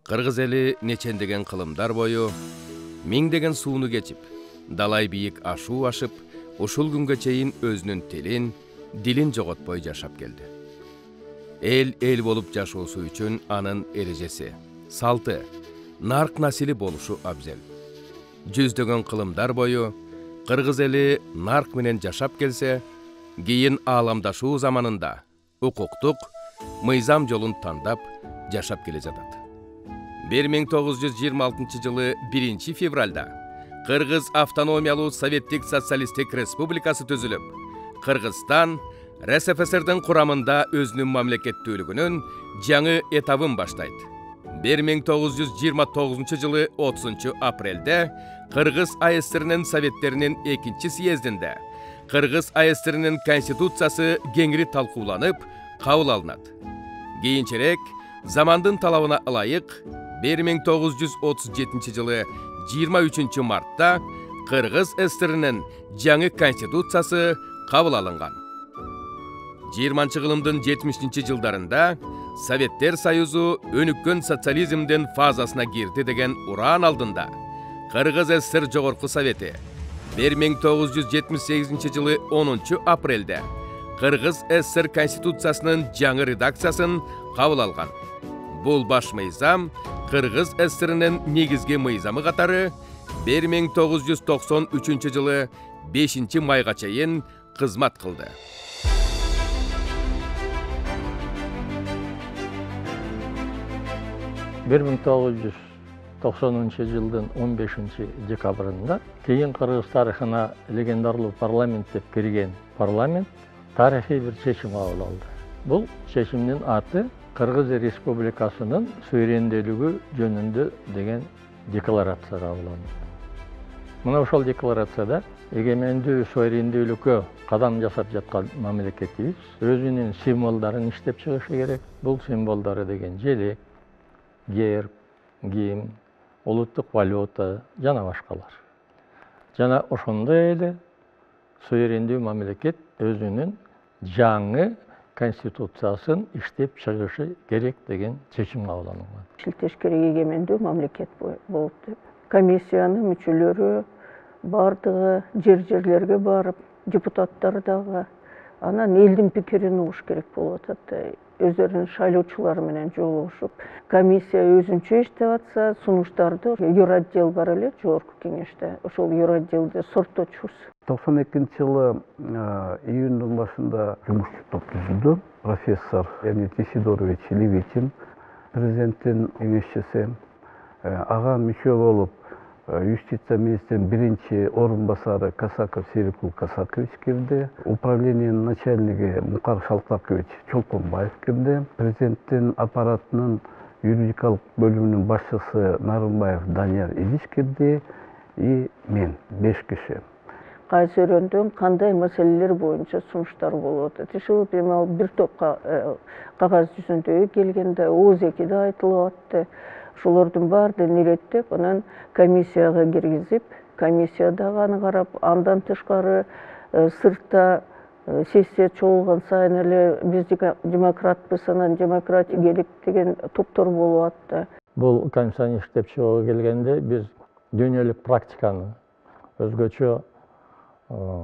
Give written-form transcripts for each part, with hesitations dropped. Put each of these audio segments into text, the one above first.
Кыргыз эли нечендеген кылымдар бою, миңдеген сууну кечип, далай бийик ашуу ашып, ушул күнгө чейин өзүнүн тилин, дилин жоготпой жашап келди. Эл болуп жашоосу үчүн анын эрежеси, салты, нарк насили болушу абзел. Жүздөгөн кылымдар бою кыргыз эли нарк менен жашап келсе, кийин ааламдашуу заманында укуктук, мыйзам жолун тандап жашап келе жатат. 1926 жылы 1 февралда Кыргыз автономиялуу Советтик социалисттик республикасы түзүлүп, Кыргызстан РСФСРдин курамында өзүнүн мамлекеттүүлүгүнүн жаңы этабын баштайт. 1929 жылы 30 апрелде Кыргыз АСРнин Советтеринин 2 съездинде Кыргыз АСРнин Конституциясы кеңири талкууланып, кабыл алынат. Кийинчерээк замандын талабына ылайык 1937 жылы 23 мартта Кыргыз ССРнин жаңы Конституциясы кабыл алынган. 20 кылымдын 70 жылдарында Советтер Союзу өнүккөн социализмдин фазасына кирди деген ураан алдында Кыргыз ССР Жогорку Совети 1978 жылы 10 апрелде Кыргыз ССР Конституциясынын жаңы редакциясын кабыл алган. Бул баш мыйзам Кыргыз ССРнин негизги мыйзамы катары 1993 жылы 5 майга чейин кызмат кылды. 1990 жылдын 15 декабрында кийин Кыргыз тарыхына легендарлуу парламент деп кирген парламент тарыхый бир чечим кабыл алды. Бул чечимдин аты Кыргыз Республикасынын суверендүүлүгү жөнүндө деген декларация кабыл алынды. Мына ошол декларацияда эгемендүү суверендүүлүккө кадам жасап жаткан мамлекетибиз өзүнүн символдорун иштеп чыгышы керек. Бул символдору деген желек, герб, гимн, улуттук валюта жана башкалар. Жана ошондой эле суверендүү мамлекет өзүнүн жаңы Конституциясын иштеп чыгышы керек деген чечим кабыл алынган. Иштеш керек эгемендүү мамлекет болуп деп. Комиссиянын мүчөлөрү бардыгы жерлерге барып, депутаттар дагы анан элдин пикирин угуш керек болуп атат. Өздөрүнүн шайлоочулары менен жолугушуп, комиссия өзүнчө иштеп атса, сунуштарды юротдел бар эле жогорку кеңеште. Ошол юротделде сортточубуз. 92 жылы июндун башында жумушчу топ түзүлдү. Профессор Леонид Исидорович Левитин, президенттин кеңешчиси, ага мүчө болуп юстиция министринин биринчи орун басары Касаков Серикул Касакович кирди. Управлениянын начальниги Мукар Шалтакович Чолпонбаев кирди. Президенттин аппаратынын юридикалык бөлүмүнүн башчысы Нарымбаев Данияр Илич кирди и мен 5 киши. Кайсы өрөндөн кандай маселелер боюнча сунуштар болуп атат. Ушул бир топ кагаз жүзүндө келгенде ооз экиде айтылып атты. Ошолордун баардыгын иреттеп, анан комиссияга киргизип, комиссия дагы аны карап, андан тышкары сыртта сессия чогулган сайын эле биз демократпыз, анан демократия керек деген топтор болуп атты. Бул комиссияны иштеп чыгууга келгенде биз дүйнөлүк практиканы өзгөчө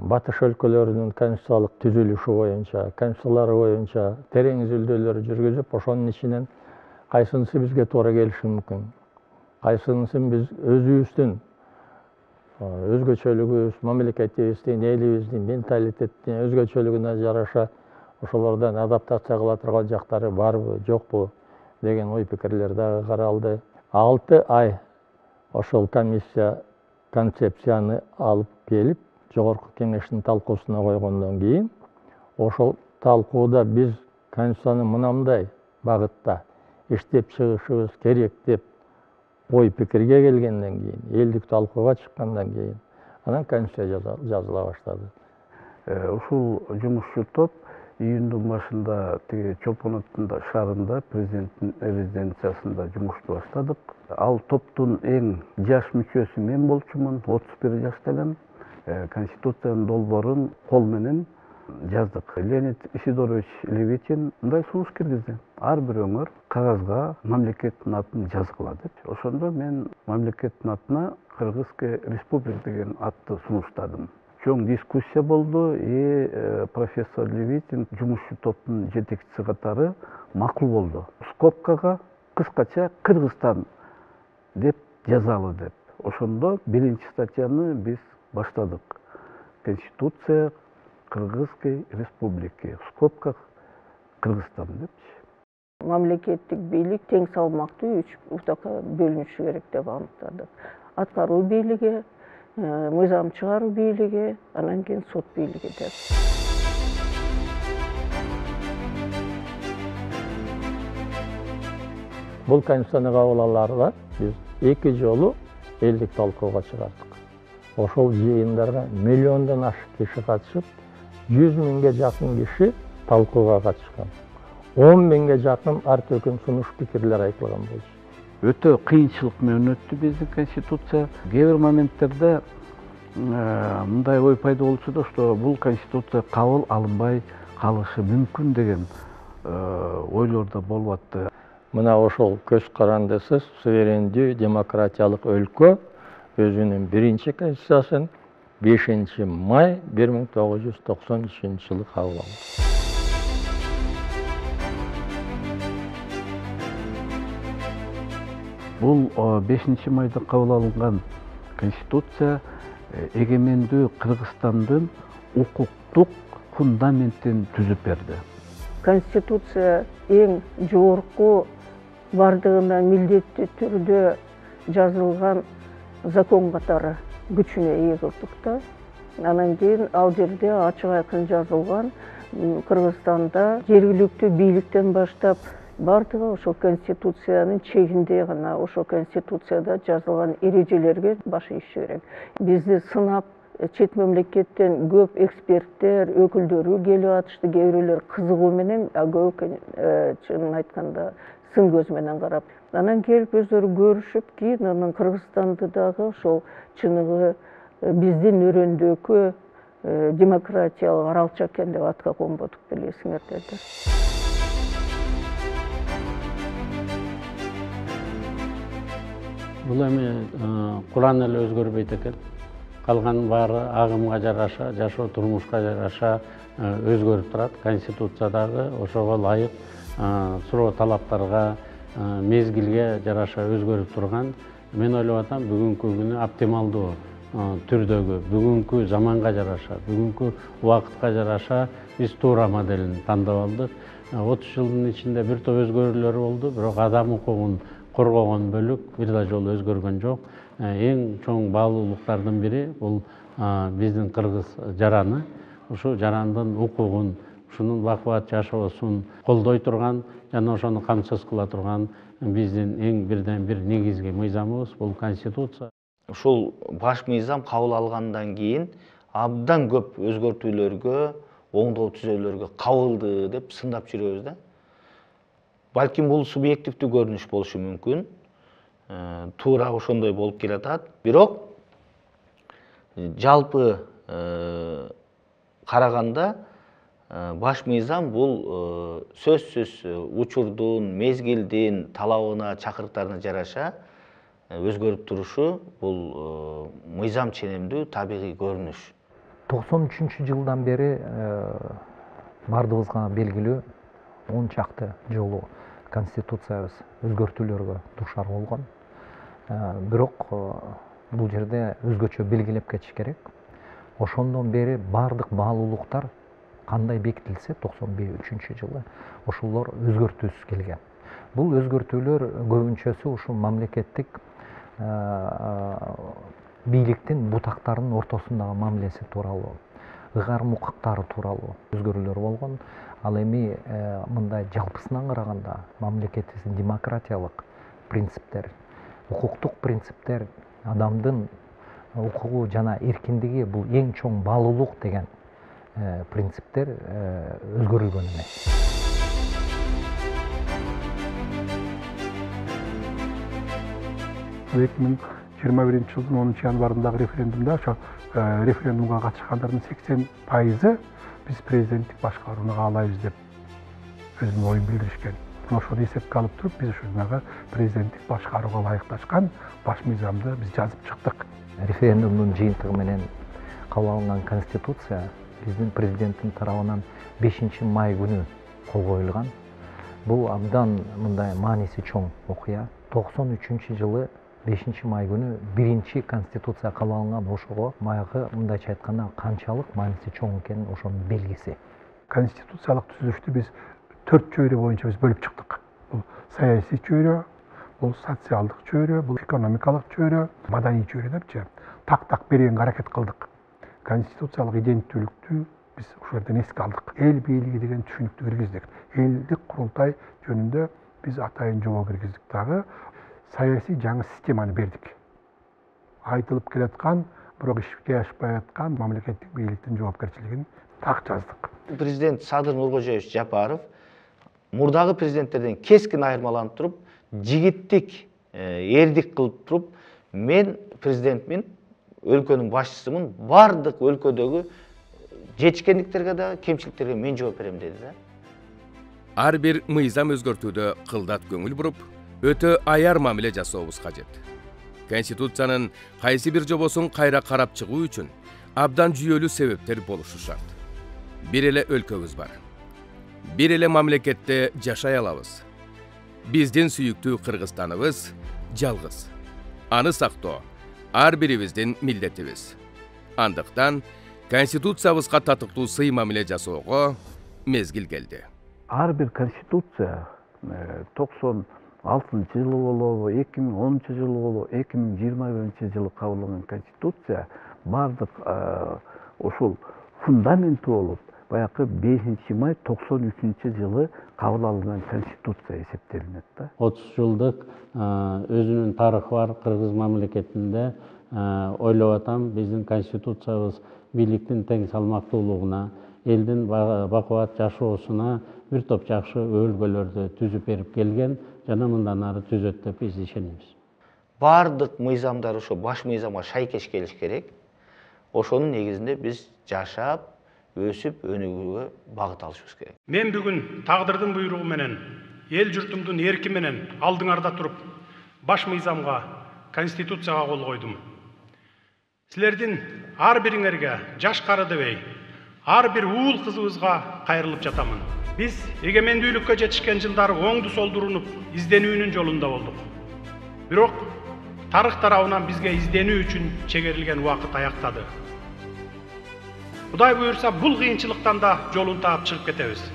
батыш өлкөлөрүнүн конституциялык түзүлүшү боюнча, конституциялары боюнча терең изилдөөлөр жүргүзүп, ошонун ичинен кайсынысы бизге туура келиши мүмкүн, кайсынысын биз өзүбүздүн өзгөчөлүгүбүз, мамлекетибиздин, элибиздин менталитеттин өзгөчөлүгүнө жараша ошолордон адаптация кыла турган жактары барбы, жокпу деген ой пикирлер дагы каралды. 6 ай ошол комиссия концепцияны алып келип, жогорку кеңештин талкуусуна койгондон кийин, ошол талкууда биз конституцияны мынандай багытта иштеп чыгышыбыз керек деп ой пикирге келгенден кийин, элдик талкууга чыккандан кийин, анан конституция жазыла баштады. Ушул жумушчу топ июндун башында тиги Чолпон шаарында президенттин резиденциясында жумушту баштадык. Ал топтун эң жаш мүчөсү мен болчумун, 31 жашта элем. Конституциянын долбоорун кол менен жаздык. Леонид Исидорович Левитин мындай сунуш киргизди. Ар бир өңөр кагазга мамлекеттин атын жазгыла деп. Ошондо мен мамлекеттин атына Кыргызская республика деген атты сунуштадым. Чоң дискуссия болду. Профессор Левитин жумушчу топтун жетекчиси катары макул болду. Скобкага кыскача Кыргызстан деп жазалы деп. Ошондо биринчи статьяны биз баштадык. Конституция Кыргызской республики. В скобках Кыргызстан депчи. Мамлекеттик бийлик тең салмактуу 3 утакка бөлүнүшү керек деп аныктадык. Аткаруу бийлиги, мыйзам чыгаруу бийлиги, анан кийин сот бийлиги деп. Бул конституцияны кабыл алаарда биз 2 жолу элдик талкууга чыгардык. Ошол жыйындарга миллиондон ашык киши катышып, 100 миңге жакын киши талкууга катышкан. 10 миңге жакын ар төкүм сунуш пикирлер айтылган болчу. Өтө кыйынчылык менен өттү биздин конституция. Кээ бир моменттерде мындай ой пайда болчу да, что бул конституция кабыл алынбай калышы мүмкүн деген ойлор да болуп атты. Мына ошол көз карандысыз суверендүү демократиялык өлкө өзүнүн биринчи конституциясын 5 май 1993-жылы кабыл алды. Бул 5 майда кабыл алынган конституция эгемендүү Кыргызстандын укуктук фундаментин түзүп берди. Конституция эң жогорку бардыгына милдеттүү түрдө жазылган закон катары күчүнө ээ кылдык да. Анан кийин ал жерде ачык айкын жазылган Кыргызстанда жергиликтүү бийликтен баштап бардыгы ошол конституциянын чегинде гана, ошол конституцияда жазылган эрежелерге баш ийиш керек. Бизди сынап чет мамлекеттен көп эксперттер, өкүлдөрү келип атышты, кээ бирөөлөр кызыгуу менен, көбү чынын айтканда сын көз менен карап. Анан келип өздөрү көрүшүп, кийин анан Кыргызстанды дагы ошол чыныгы биздин өрөөндөгү демократиялык аралча экен деп атка конбодук билесиңердер да. Бул эми Куран эле өзгөрбөйт экен. Калган баары агымга жараша, жашоо турмушка жараша өзгөрүп турат. Конституция дагы ошого ылайык суроо талаптарга, мезгилге жараша өзгөрүп турган. Мен ойлоп атам, бүгүнкү күнү оптималдуу түрдөгү, бүгүнкү заманга жараша, бүгүнкү убакытка жараша биз туура моделин тандап алдык. 30 жылдын ичинде бир топ өзгөрүүлөр болду, бирок адам укугун коргогон бөлүк бир да жолу өзгөргөн жок. Эң чоң баалуулуктардын бири бул биздин кыргыз жараны, ушу жарандын укугун, ушунун бакубат жашоосун колдой турган жана ошону камсыз кыла турган биздин эң бирден бир негизги мыйзамыбыз бул конституция. Ушул баш мыйзам кабыл алгандан кийин абдан көп өзгөртүүлөргө, оңдоо түзөөлөргө кабылды деп сындап жүрөбүз да. Балким бул субъективдүү көрүнүш болушу мүмкүн. Туура ошондой болуп келатат. Бирок жалпы караганда баш мыйзам бул сөзсүз учурдун, мезгилдин талабына, чакырыктарына жараша өзгөрүп турушу бул мыйзам ченемдүү табигый көрүнүш. 93-жылдан бери бардыгыбызга белгилүү 10 чакты жолу конституциябыз өзгөртүүлөргө дуушар болгон. Бирок бул жерде өзгөчө белгилеп кетиш керек. Ошондон бери бардык баалуулуктар кандай бекитилсе 93-жылы ошолор өзгөртүүсүз келген. Бул өзгөртүүлөр көбүнчөсү ушул мамлекеттик бийликтин бутактарынын ортосундагы мамилеси тууралуу, ыгарым укуктары тууралуу өзгөрүүлөр болгон. Ал эми мындай жалпысынан караганда мамлекетибиздин демократиялык принциптер, укуктук принциптер, адамдын укугу жана эркиндиги бул эң чоң баалуулук деген принциптер өзгөрүлгөн эмес. 2021-жылдын 10 январындагы референдумда ошо референдумга катышкандардын 80% биз президенттик башкарууну каалайбыз деп өзүнүн оюн билдиришкен. Ошону эсепке алып туруп, биз ушунага президенттик башкарууга ылайыкташкан баш мыйзамды биз жазып чыктык. Референдумдун жыйынтыгы менен кабыл алынган конституция биздин президенттин тарабынан 5 май күнү кол коюлган. Бул абдан мындай мааниси чоң окуя. 93-жылы 5 май күнү биринчи конституция кабыл алынган. Ошого баягы мындайча айтканда канчалык мааниси чоң экенин ошонун белгиси. Конституциялык түзүлүштү биз 4 чөйрө боюнча биз бөлүп чыктык. Бул саясий чөйрө, бул социалдык чөйрө, бул экономикалык чөйрө, маданий чөйрө депчи так бергенге аракет кылдык. Конституциялык иденттүүлүктү биз ошол жерден эске алдык. Эл бийлиги деген түшүнүктү киргиздик. Элдик курултай жөнүндө биз атайын жобо киргиздик дагы. Саясий жаңы системаны бердик. Айтылып келаткан, бирок ишке ашпай аткан мамлекеттик бийликтин жоопкерчилигин так жаздык. Президент Садыр Нуркожоевич Жапаров мурдагы президенттерден кескин айырмаланып туруп, жигиттик, эрдик кылып туруп, мен президентмин, өлкөнүн башчысымын, бардык өлкөдөгү жетишкендиктерге да, кемчиликтерге мен жооп берем деди да. Ар бир мыйзам өзгөртүүдө кылдат көңүл буруп, өтө аяр мамиле жасообуз кажет. Конституциянын кайсы бир жобосун кайра карап чыгуу үчүн абдан жүйөлүү себептер болушу шарт. Бир эле өлкөбүз бар. Бир эле мамлекетте жашай алабыз. Биздин сүйүктүү Кыргызстаныбыз жалгыз. Аны сактоо ар бирибиздин милдетибиз. Андыктан Конституциябызга татыктуу сый мамиле жасоого мезгил келди. Ар бир конституция 96-жылы болобу, 2010-жылы болобу, 2021-жылы кабылган конституция бардык ушул фундаменти болуп, баягы 5 май 93-жылы кабыл алынган конституция эсептелинет да. 30 жылдык өзүнүн тарыхы бар кыргыз мамлекетинде ойлоп атам, биздин конституциябыз бийликтин тең салмактуулугуна, элдин бакубат жашоосуна бир топ жакшы өбөлгөлөрдү түзүп берип келген, жана мындан ары түзөт деп биз ишенебиз. Бардык мыйзамдар ошо баш мыйзамга шайкеш келиш керек. Ошонун негизинде биз жашап, өсүп, өнүгүүгө багыт алышыбыз керек. Мен бүгүн тагдырдын буйругу менен, эл журтумдун эрки менен алдыңарда туруп, баш мыйзамга, конституцияга кол койдум. Силердин ар бириңерге, жаш кары дебей, ар бир уул кызыбызга кайрылып жатамын. Биз эгемендүүлүккө жетишкен жылдары оңду солду урунуп, изденүүнүн жолунда болдук. Бирок тарых тарабынан бизге изденүү үчүн чегерилген убакыт аяктады. Кудай буйрса, бул кыйынчылыктан да жолун таап чыгып кетебиз.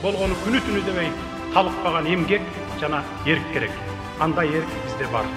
Болгону күнү түнү дебей талыкпаган эмгек жана эрк керек. Андай эрк бизде бар.